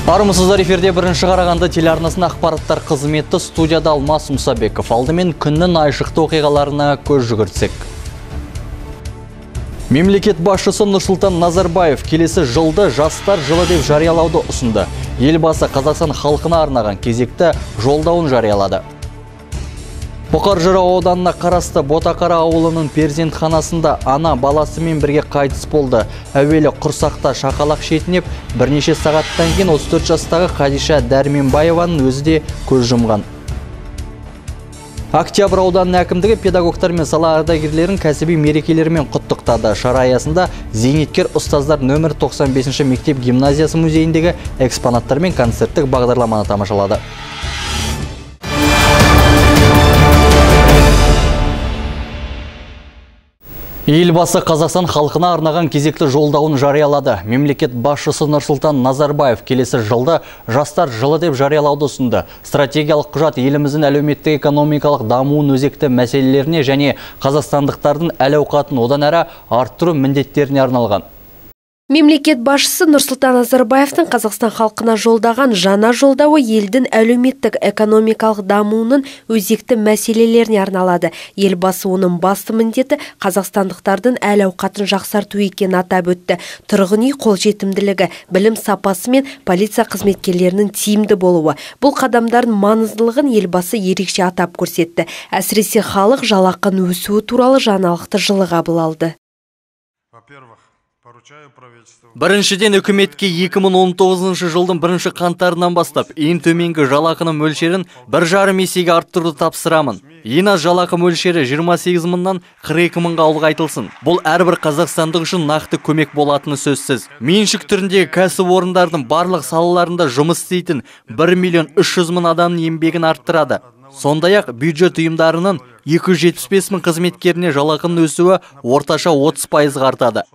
Армысыздар, эфирде бірінші Қарағанды телеарнасының ақпараттар қызметі, студияда Алмас Мұсабеков. Алдымен күннің айшықты оқиғаларына көз жүгіртсек. Мемлекет басшысы Нұрсұлтан Назарбаев келесі жылды жастар жылы деп жариялауды ұсынды. Елбасы Қазақстан халқына арнаған кезекті жолдауын жариялады. Бұқар Жырау ауданына қарасты Ботақара ауылының перзентханасында ана баласымен бірге қайтыс болды. Әуелі құрсақта шақалақ шетінеп, бірнеше сағаттан кейін 34 жастағы Қадиша Дәрменбаеваның өзі де көз жұмған. Октябрь ауданының әкімдігі педагогтар мен сала ардагерлерін кәсіби мерекелерімен құттықтады. Шара аясында зейнеткер ұстаздар нөмір 95 мектеп гимназиясы музейіндегі экспонаттар мен концерттік бағдарламаны тамашалады. Елбасы Қазақстан халқына арнаған кезекті жолдауын жариялады. Мемлекет басшысы Нұрсұлтан Назарбаев келесі жылды жастар жылы деп жариялауды ұсынды. Стратегиялық құжат еліміздің әлеуметтік экономикалық дамуын өзекті мәселелеріне және қазақстандықтардың әл-ауқатын одан әрі арттыру міндеттеріне арналған. Мемлекет басшысы Нұрсұлтан Назарбаевтың Қазақстан халқына жолдаған жаңа жолдауы елдің әлеуметтік экономикалық дамуының өзекті мәселелеріне арналады. Елбасы оның басты міндеті қазақстандықтардың әл-ауқатын жақсарту екенін атап өтті. Тұрғын үй қолжетімділігі, білім сапасы мен полиция қызметкерлерінің тиімді болуы. Бұл қадамдардың маңыздылығын елбасы ерекше атап көрсетті. Әсіресе халық жалақының өсуі туралы жаңалықты жылы қабыл алды. Біріншіден, үкіметке 2019 жылдың 1 қаңтарынан бастап ең төменгі жалақының мөлшерін 1,5 есеге арттыруды тапсырамын. Ең аз жалақы мөлшері 28 мыңнан 42 мыңға ұлғайтылсын. Бұл әрбір қазақстандық үшін нақты көмек болатыны сөзсіз. Меншік түріндегі кәсіпорындардың барлық салаларында жұмыс істейтін 1,3 миллион адамның еңбегін арттырады. Сондай-ақ бюджет ұйымдарының 275 мың қызметкеріне жалақының өсуі орташа 30% артады.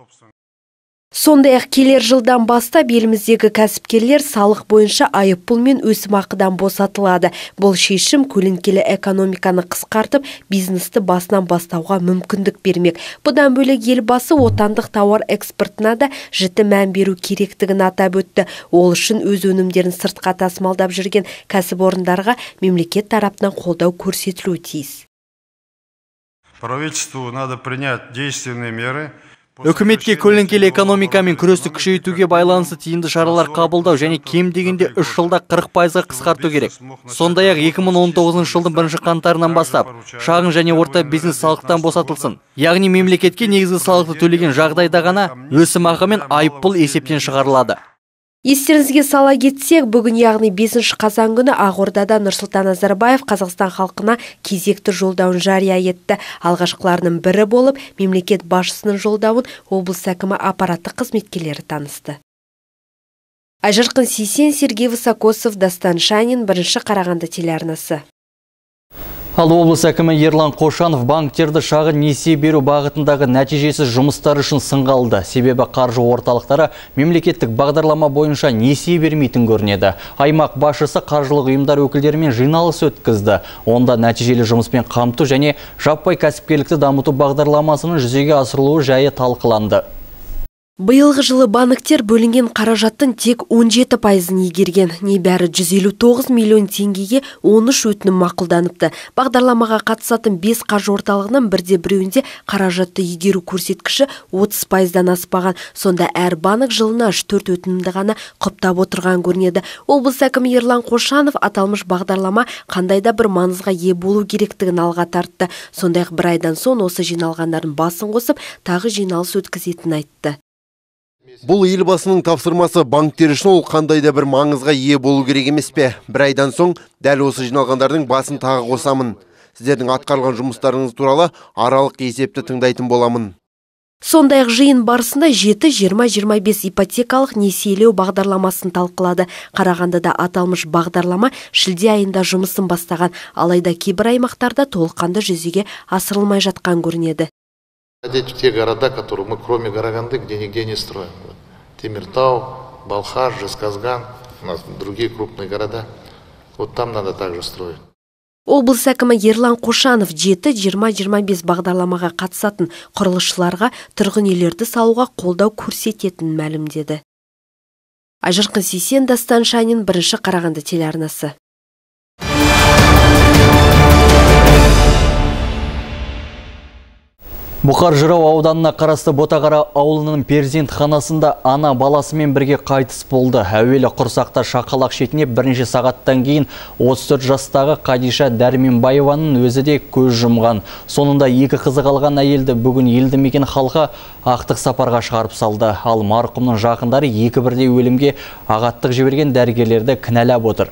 Сондай-ақ келер жылдан бастап еліміздегі кәсіпкерлер салық бойынша айыппұл мен өсімақыдан босатылады. Бұл шешім көлеңкелі экономиканы қысқартып, бизнесті басынан бастауға мүмкіндік бермек. Бұдан бөлек елбасы отандық тауар экспортына да жіті мән беру керектігін атап өтті. Ол үшін өз өнімдерін сыртқа тасымалдап жүрген кәсіпорындарға мемлекет тарапынан қолдау көрсетілуі тиіс. Правительству надо принять действенные меры. Үкіметке көлеңкелі экономикамен күресті күшейтуге байланысты тиімді шаралар қабылдау және кем дегенде 3 жылда 40%-ға қысқарту керек. Сондай-ақ 2019 жылдың 1 қаңтарынан бастап шағын және орта бизнес салықтан босатылсын. Яғни мемлекетке негізгі салықты төлеген жағдайда ғана өсімақы мен айыппұл есептен шығарылады. Естеріңізге сала кетсек, бүгін яғни 5 қазан күні Ақордада Нұрсұлтан Назарбаев Қазақстан халқына кезекті жолдауын жария етті. Алғашқыларының бірі болып, мемлекет басшысының жолдауын облыс әкімі аппараттық қызметкерлері танысты. Айжарқын Сейсен, Сергей Высокосов, Дастан Шанин, бірінші Қарағанды телеарнасы. Ал облыс әкімі Ерлан Қошанов банктерді шағын несие беру бағытындағы нәтижесіз жұмыстар үшін сынға алды. Себебі қаржы орталықтары мемлекеттік бағдарлама бойынша несие бермейтін көрінеді. Аймақ басшысы қаржылық ұйымдар өкілдерімен жиналыс өткізді. Онда нәтижелі жұмыспен қамту және жаппай кәсіпкерлікті дамыту бағдарламасының жүзеге асырылуы жайы талқыланды. Биылғы жылы банктер бөлінген қаражаттың тек 17%-ын игерген. Небәрі 159 миллион теңгеге 13 өтінім мақұлданыпты. Бағдарламаға қатысатын 5 қаржы орталығынан бірде біреуінде қаражатты игеру көрсеткіші 30%-дан аспаған. Сонда әр банк жылына 4 өтінімді ғана құптап отырған көрінеді. Облыс әкімі Ерлан Қошанов аталмыш бағдарлама қандайда бір маңызға ие болу керектігін алға тартты. Сондай-ақ бір айдан соң осы жиналғандардың басын қосып, тағы жиналыс өткізетінін айтты. Бұл елбасының тапсырмасы, банктер үшін ол қандайда бір маңызға ие болу керек емес пе? Бір айдан соң дәл осы жиналғандардың басын тағы қосамын. Сіздердің атқарылған жұмыстарыңыз туралы аралық есепті тыңдайтын боламын. Сондай-ақ жиын барысында 7-20-25 ипотекалық несиелеу бағдарламасын талқылады. Қарағандыда аталмыш бағдарлама шілде айында жұмысын бастаған, алайда кейбір аймақтарда толыққанды жүзеге асырылмай жатқан көрінеді. В те города, которые мы, кроме Караганды, где нигде не строим. Темиртау, Балхаш, Жезказган, у нас другие крупные города. Вот там надо также строить. Облыс әкімі Ерлан Қошанов 7-20-25 бағдарламаға қатысатын құрылысшыларға тұрғын үйлерді салуға қолдау көрсететінін мәлімдеді. Айжарқын Сейсен, Дастан Шанин, Бірінші Қарағанды телеарнасы. Бұқар Жырау ауданына қарасты Ботағара ауылының перзентханасында ана баласымен бірге қайтыс болды. Әуелі құрсақта шақалақ шетіне бірінші сағаттан кейін 34 жастағы Қадиша Дәрменбаеваның өзі де көз жұмған. Сонында екі қызы қалған әйелді бүгін елді мекен халқы ақтық сапарға шығарып салды. Ал марқұмның жақындары екі бірдей өлімге ағаттық жіберген дәрігерлерді кінәлап отыр.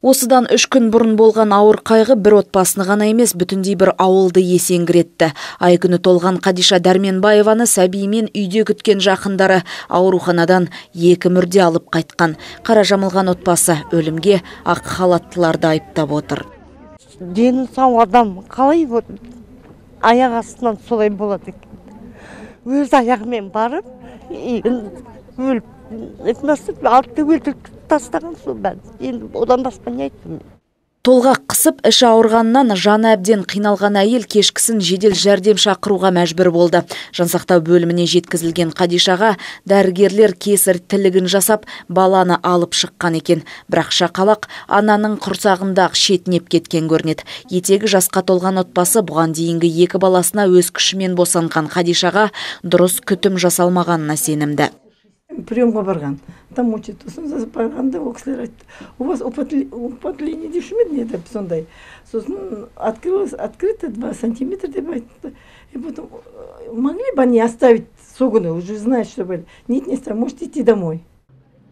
Осыдан 3 күн бұрын болған ауыр қайғы бір отбасыны ғана емес, бүтіндей бір ауылды есеңгіретті. Ай күні толған Қадиша Дәрменбаеваны сәбиімен үйде күткен жақындары ауруханадан 2 мүрде алып қайтқан. Қара жамылған отбасы өлімге ақ халаттыларды айыптап отыр. Дені сау адам қалай аяқ астынан солай болады екен. Өз аяғымен барып, өліп, алтты өлтіріп тастаған сол бән. Енді одан басқа не айттым? Толғақ қысып, іші ауырғаннан жаны әбден қиналған әйел кешкісін жедел жәрдем шақыруға мәжбүр болды. Жансақтау бөліміне жеткізілген Қадишаға дәрігерлер кесар тілігін жасап, баланы алып шыққан екен. Бірақ шақалақ ананың құрсағында шетінеп кеткен көрінеді. Етегі жасқа толған отбасы бұған дейінгі 2 баласына өз күшімен босанған Қадишаға дұрыс күтім жасалмағанына сенімді. Приемға барған. Там учет, сосын барғанда ол кісілер айтты. У вас употребение деп шумеді не деп сондай. Сосын открыто 2 сантиметра деп айтты. И потом могли бы они оставить согуны, уже знают, что были. Нет, не оставить, можете идти домой.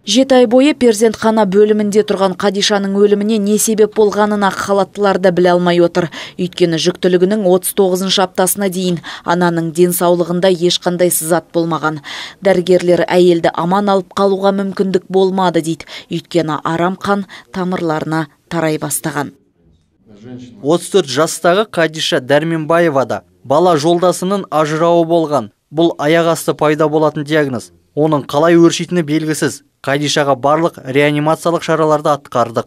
7 ай бойы перзентхана бөлімінде тұрған Қадишаның өліміне не себеп болғанын ақ халаттылар да біле алмай отыр. Өйткені жүктілігінің 39 аптасына дейін ананың денсаулығында ешқандай сызат болмаған. Дәрігерлер әйелді аман алып қалуға мүмкіндік болмады дейді. Өйткені арам қан тамырларына тарай бастаған. 34 жастағы Қадиша Дәрменбаевада бала жолдасының ажырауы болған. Бұл аяқ асты пайда болатын диагноз. Оның қалай өршитіні белгісіз. Қадишаға барлық реанимациялық шараларды атқардық.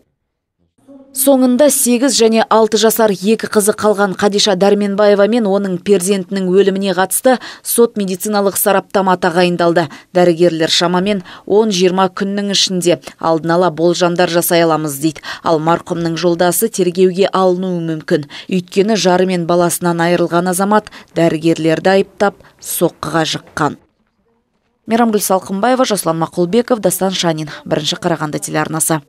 Соңында 8 және 6 жасар 2 қызы қалған Қадиша Дәрменбаева мен оның перзентінің өліміне қатысты сот медициналық сараптама тағайындалды. Дәрігерлер шамамен 10-20 күннің ішінде алдын ала болжамдар жасай аламыз дейді. Ал марқұмның жолдасы тергеуге алынуы мүмкін. Өйткені жары мен баласынан айырылған азамат дәрігерлерді айыптап соққыға жыққан. Мейрамгүл Салқынбаева, Жасұлан Мақұлбеков, Дастан Шанин, Бірінші Қарағанды телеарнасы.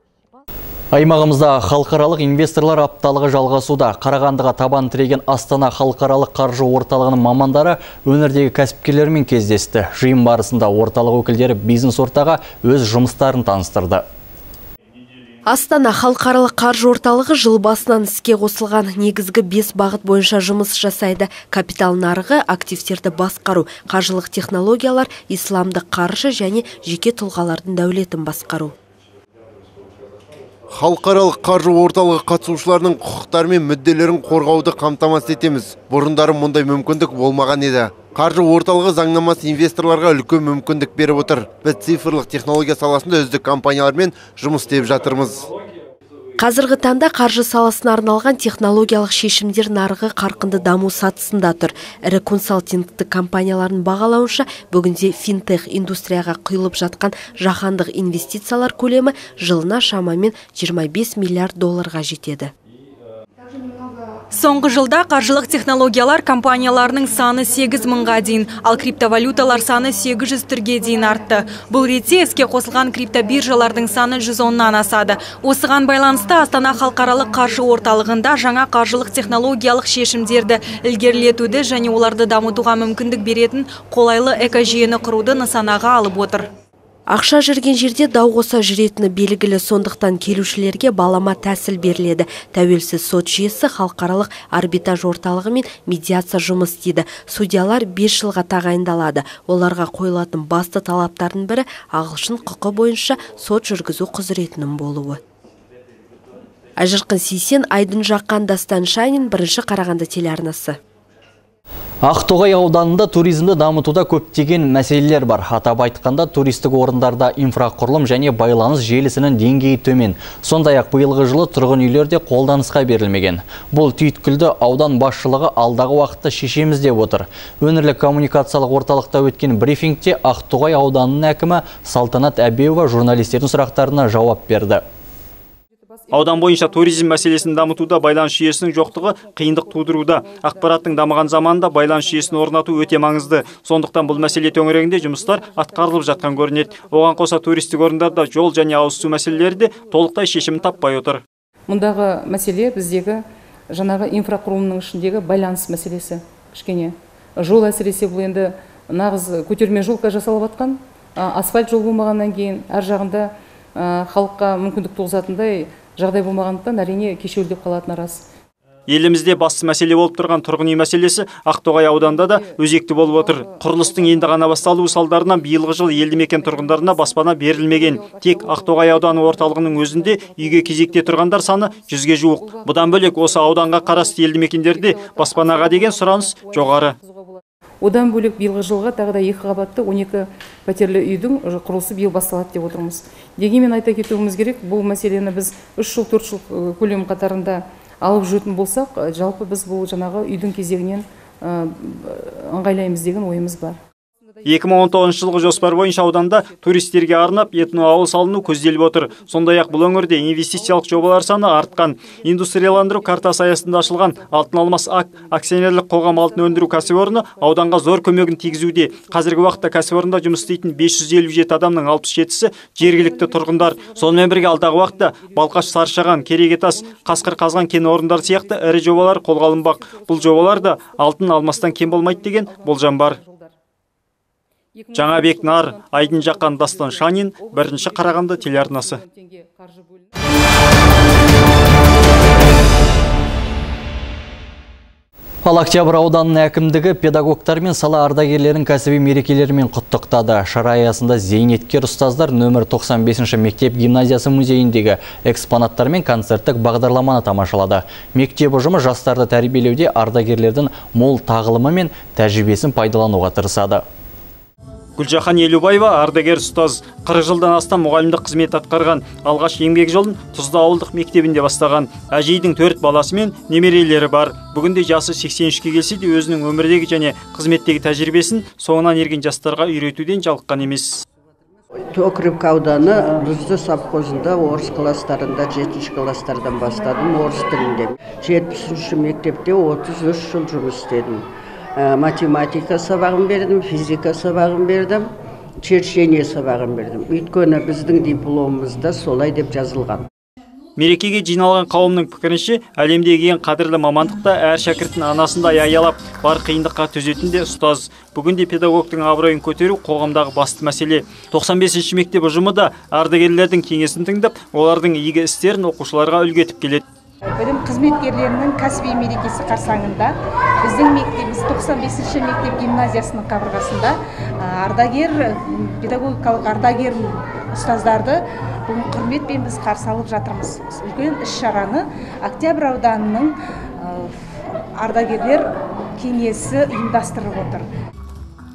Аймағымызда халықаралық инвесторлар апталығы жалғасуда. Қарағандыға табан тіреген Астана халықаралық қаржы орталығының мамандары өңірдегі кәсіпкерлермен кездесті. Жиын барысында орталық өкілдері бизнес ортаға өз жұмыстарын таныстырды. Астана халықаралық қаржы орталығы жыл басынан іске қосылған негізгі 5 бағыт бойынша жұмыс жасайды. Капитал нарығы, активтерді басқару, қаржылық технологиялар, исламдық қаржы және жеке тұлғалардың дәулетін басқару. Халықаралық қаржы орталығы қатысушыларының құқықтары мен мүдделерін қорғауды қамтамасыз етеміз. Бұрындары мұндай мүмкіндік болмаған еді. Қаржы орталығы заңнамасы инвесторларға үлкен мүмкіндік беріп отыр. Біз цифрлық технология саласында үздік компаниялармен жұмыс істеп жатырмыз. Қазіргі таңда қаржы саласына арналған технологиялық шешімдер нарығы қарқынды даму сатысында тұр. Ірі консалтингтік компаниялардың бағалауынша, бүгінде финтех индустрияға құйылып жатқан жаһандық инвестициялар көлемі жылына шамамен 25 миллиард долларға жетеді. Соңғы жылда қаржылық технологиялар компанияларының саны 8 мыңға дейін, ал криптовалюталар саны 800 түрге дейін артты. Бұл ретте іске қосылған криптобиржалардың саны 110-нан асады. Осыған байланысты Астана халықаралық қаржы орталығында жаңа қаржылық технологиялық шешімдерді ілгерілетуді және оларды дамытуға мүмкіндік беретін қолайлы экожүйені құруды нысанаға алып отыр. Ақша жүрген жерде дау қоса жүретіні белгілі, сондықтан келушілерге балама тәсіл беріледі. Тәуелсіз сот жүйесі халықаралық арбитраж орталығы мен медиация жұмыс істейді. Судьялар 5 жылға тағайындалады. Оларға қойылатын басты талаптардың бірі ағылшын құқы бойынша сот жүргізу құзыретінің болуы. Айжарқын Сейсен, Айдын Жаққан, Дастан Шанин, Бірінші Қарағанды телеарнасы. Ақтоғай ауданында туризмді дамытуда көптеген мәселелер бар. Атап айтқанда туристік орындарда инфрақұрылым және байланыс желісінің деңгейі төмен. Сондай-ақ биылғы жылы тұрғын үйлерде қолданысқа берілмеген. Бұл түйткілді аудан басшылығы алдағы уақытта шешеміз деп отыр. Өңірлік коммуникациялық орталықта өткен брифингте Ақтоғай ауданының әкімі Салтанат Әбеуова журналистердің сұрақтарына жауап берді. Аудан бойынша туризм мәселесін дамытуда байланыс жүйесінің жоқтығы қиындық тудыруда. Ақпараттың дамыған заманда байланыс жүйесін орнату өте маңызды. Сондықтан бұл мәселе төңірегінде жұмыстар атқарылып жатқан көрінеді. Оған қоса туристік орындарда жол және ауыз су мәселелері де толықтай шешімін таппай отыр. Мұндағы мәселе біздегі жаңағы инфрақұрылымның ішіндегі байланыс мәселесі. Кішкене жол әсіресе бұл енді нағыз көтерме жолға жасалып жатқан, асфальт жол болмағаннан кейін әр жағында халыққа мүмкіндік туғызатындай жағдай болмағандықтан әрине кешеуілдеп қалатыны рас. Елімізде басты мәселе болып тұрған тұрғын үй мәселесі Ақтоғай ауданында да өзекті болып отыр. Құрылыстың енді ғана басталуы салдарынан биылғы жыл елді мекен тұрғындарына баспана берілмеген. Тек Ақтоғай ауданы орталығының өзінде үйге кезекте тұрғандар саны 100-ге жуық. Бұдан бөлек осы ауданға қарасты елді мекендерде баспанаға деген сұраныс жоғары. Одан бөлек биылғы жылға тағы да 2 қабатты 12 пәтерлі үйдің құрылысы биыл басталады деп отырмыз. Дегенмен айта кетуіміз керек, бұл мәселені біз 3 жыл 4 жыл көлем қатарында алып жүретін болсақ, жалпы біз бұл жаңағы үйдің кезегінен ыңғайлаймыз деген ойымыз бар. 2019 жылғы жоспар бойынша ауданда туристерге арнап этноауыл салыну көзделіп отыр. Сондай-ақ бұл өңірде инвестициялық жобалар саны артқан. Индустрияландыру картасы аясында ашылған Алтын Алмас акционерлік қоғам алтын өндіру кәсіпорны ауданға зор көмегін тигізуде. Қазіргі уақытта кәсіпорында жұмыс істейтін 557 адамның 67-сі жергілікті тұрғындар. Сонымен бірге алдағы уақытта Балқаш, Саршаған, Керегетас, Қасқыр қазған кен орындары сияқты ірі жобалар қолға алынбақ. Бұл жобалар да алтын алмастан кем болмайды деген болжам бар. Жаңабек Нар, Айдын Жақан, Дастан Шанин, 1-ші Қарағанды телеарнасы. Ал Октябрь ауданының әкімдігі педагогтар мен сала ардагерлерін кәсіби мерекелерімен құттықтады. Шара аясында зейнеткер ұстаздар нөмір 95-ші мектеп гимназиясы музейіндегі экспонаттар мен концерттік бағдарламаны тамашалады. Мектеп ұжымы жастарды тәрбиелеуде ардагерлердің мол тағылымы мен тәжірибесін пайдалануға тырысады. Гүлжахан Елубаева ардагер ұстаз, 40 жылдан астам мұғалімдік қызмет атқарған. Алғаш еңбек жолын Тұзда ауылдық мектебінде бастаған. Әжейдің 4 баласы мен немерелері бар. Бүгінде жасы 83-ке келсе де өзінің өмірдегі және қызметтегі тәжірибесін соңынан ерген жастарға үйретуден жалыққан емес. Окрепка ауданы Бұзды совхозында орыс класстарында 7-ші класстардан бастадым, орыс тілінде. 70-ші мектепте 33 жыл жұмыс істедім. Математика сабағын бердім, физика сабағын бердім, черчение сабағын бердім. Өйткені біздің дипломымызда солай деп жазылған. Мерекеге жиналған қауымның пікірінше, әлемдегі ең қадірлі мамандықта әр шәкірттің анасындай аялап, бар қиындыққа төзетін де ұстаз. Бүгінде педагогтың абыройын көтеру қоғамдағы басты мәселе. 95-ші мектеп ұжымы да ардагерлердің кеңесін тыңдап, олардың игі істерін оқушыларға үлгі етіп келеді. Білім қызметкерлерінің кәсіби мерекесі қарсаңында біздің мектебіміз 95-ші мектеп гимназиясының қабырғасында педагогикалық ардагер ұстаздарды бүгін құрметпен біз қарсы алып жатырмыз. Үлкен іс-шараны Октябрь ауданының ардагерлер кеңесі ұйымдастырып отыр.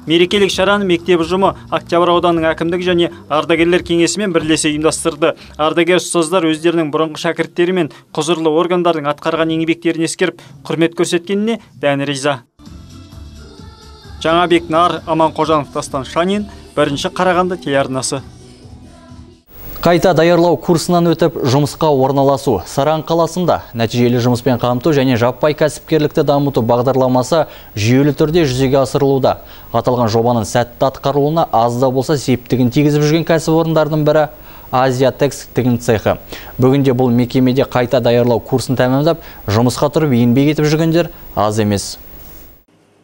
Мерекелік шараны мектеп ұжымы Октябрь ауданының әкімдігі және ардагерлер кеңесімен бірлесе ұйымдастырды. Ардагер ұстаздар өздерінің бұрынғы шәкірттері мен құзырлы органдардың атқарған еңбектерін ескеріп, құрмет көрсеткеніне дән риза. Жаңабек Нар, Аман Қожанов, Дастан Шанин, 1-ші Қарағанды телеарнасы. Қайта даярлау курсынан өтіп жұмысқа орналасу. Саран қаласында нәтижелі жұмыспен қамту және жаппай кәсіпкерлікті дамыту бағдарламасы жүйелі түрде жүзеге асырылуда. Аталған жобаның сәтті атқарылуына аз да болса септігін тигізіп жүрген кәсіпорындардың бірі Азия Текс тігін цехы. Бүгінде бұл мекемеде қайта даярлау курсын тәмамдап, жұмысқа тұрып еңбек етіп жүргендер аз емес.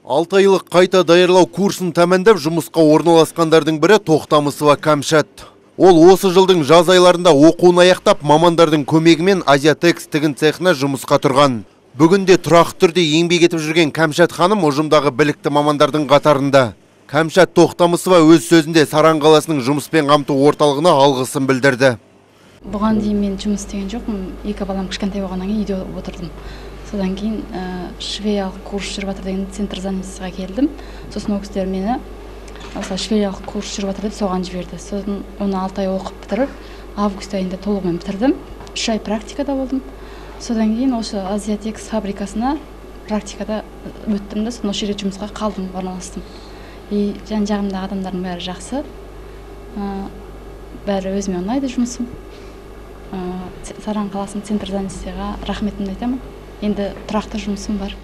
6 айлық қайта даярлау курсын тәмамдап, жұмысқа орналасқандардың бірі Тоқтамысова Кәмшат. Ол осы жылдың жаз айларында оқуын аяқтап, мамандардың көмегімен Азия Текс тігін цехына жұмысқа тұрған. Бүгінде тұрақты түрде еңбек етіп жүрген Кәмшат ханым ұжымдағы білікті мамандардың қатарында. Кәмшат Тоқтамысова өз сөзінде Саран қаласының жұмыспен қамту орталығына алғысын білдірді. Бұған дейін мен жұмыс істеген жоқпын. 2 балам кішкентай болғаннан кейін үйде отырдым. Содан кейін швеялық курс жүріп жатыр деген центр занятиеға келдім. Сосын ол кісілер мені швеялық курс жүріп жатыр деп соған жіберді. Сосын оны 6 ай оқып бітіріп, август айында толығымен бітірдім. 3 ай практикада болдым. Содан кейін осы Азиатекс фабрикасына практикада өттім де, сосын осы жерде жұмысқа қалдым, орналастым. И жан-жағымдағы адамдардың бәрі жақсы. Бәрі өзіме ұнайды жұмысым. Саран қаласының центр занятиеға рахметімді айтамын. Енді тұрақты жұмысым бар.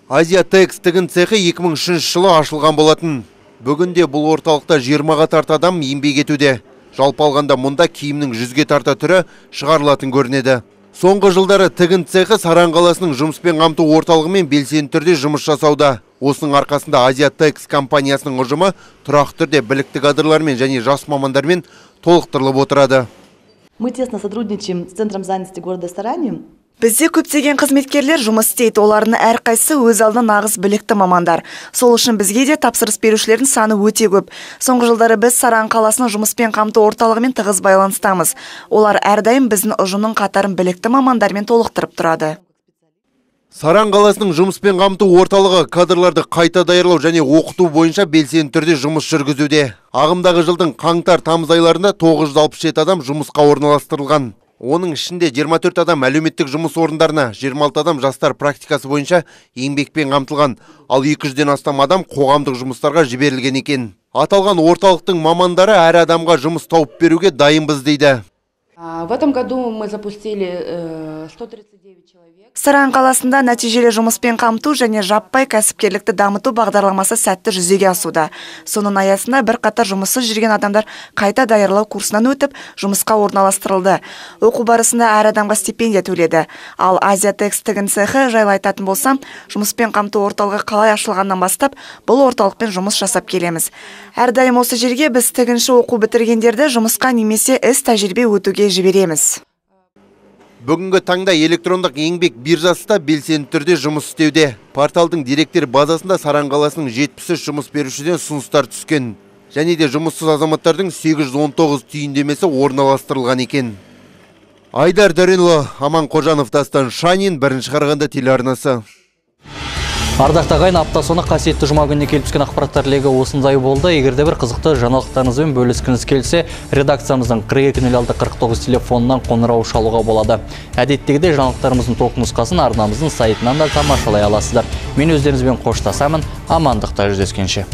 Азиатекс тігін цехы 2003 жылы ашылған болатын. Бүгінде бұл орталықта 20-ға тарта адам еңбек етуде. Жалпы алғанда мұнда киімнің 100-ге тарта түрі шығарылатын көрінеді. Соңғы жылдары тігін цехы Саран қаласының жұмыспен қамту орталығымен белсенді түрде жұмыс жасауда. Осының арқасында Азиатекс компаниясының ұжымы тұрақты түрде білікті кадрлармен және жас мамандармен толықтырылып отырады. Мы тесно сотрудничаем с Центром занятости города Саране. Бізде көптеген қызметкерлер жұмыс істейді, олардың әрқайсысы өз алдына нағыз білікті мамандар. Сол үшін бізге де тапсырыс берушілердің саны өте көп. Соңғы жылдары біз Саран қаласының жұмыспен қамту орталығымен тығыз байланыстамыз. Олар әрдайым біздің ұжымның қатарын білікті мамандармен толықтырып тұрады. Саран қаласының жұмыспен қамту орталығы кадрларды қайта даярлау және оқыту бойынша белсенді түрде жұмыс жүргізуде. Ағымдағы жылдың қаңтар-тамыз айларында 967 адам жұмысқа орналастырылған. Оның ішінде 24 адам әлеуметтік жұмыс орындарына, 26 адам жастар практикасы бойынша еңбекпен қамтылған, ал 200-ден астам адам қоғамдық жұмыстарға жіберілген екен. Аталған орталықтың мамандары әр адамға жұмыс тауып беруге дайынбыз дейді. В этом году мы запустили 139 человек. Саран қаласында нәтижелі жұмыспен қамту және жаппай кәсіпкерлікті дамыту бағдарламасы сәтті жүзеге асуда. Соның аясында бірқатар жұмыссыз жүрген адамдар қайта даярлау курсынан өтіп, жұмысқа орналастырылды. Оқу барысында әр адамға стипендия төледі. Ал Азиатекс тігін цехы жайлы айтатын болсам, жұмыспен қамту орталығы қалай ашылғаннан бастап, бұл орталықпен жұмыс жасап келеміз. Әрдайым осы жерге біз тігінші оқу бітіргендерді жұмысқа немесе іс тәжірибе өтуге жібереміз. Бүгінгі таңда электрондық еңбек биржасы белсенді түрде жұмыс істеуде. Порталдың директор базасында Саран қаласының 73 жұмыс берушіден ұсыныстар түскен. Және де жұмыссыз азаматтардың 819 түйіндемесі орналастырылған екен. Айдар Дөренұлы, Аман Қожанов, Дастан Шанин, Бірінші Қарағанды телеарнасы. Ардақты ағайын, апта соны қасиетті жұма күніне келіп түскен ақпараттар легі осындай болды. Егерде бір қызықты жаңалықтарыңызбен бөліскіңіз келсе, редакциямыздың 420649 телефонынан қоңырау шалуға болады. Әдеттегідей жаңалықтарымыздың толық нұсқасын арнамыздың сайтынан да тамашалай аласыздар. Мен өздеріңізбен қоштасамын. Амандықта жүздескенше.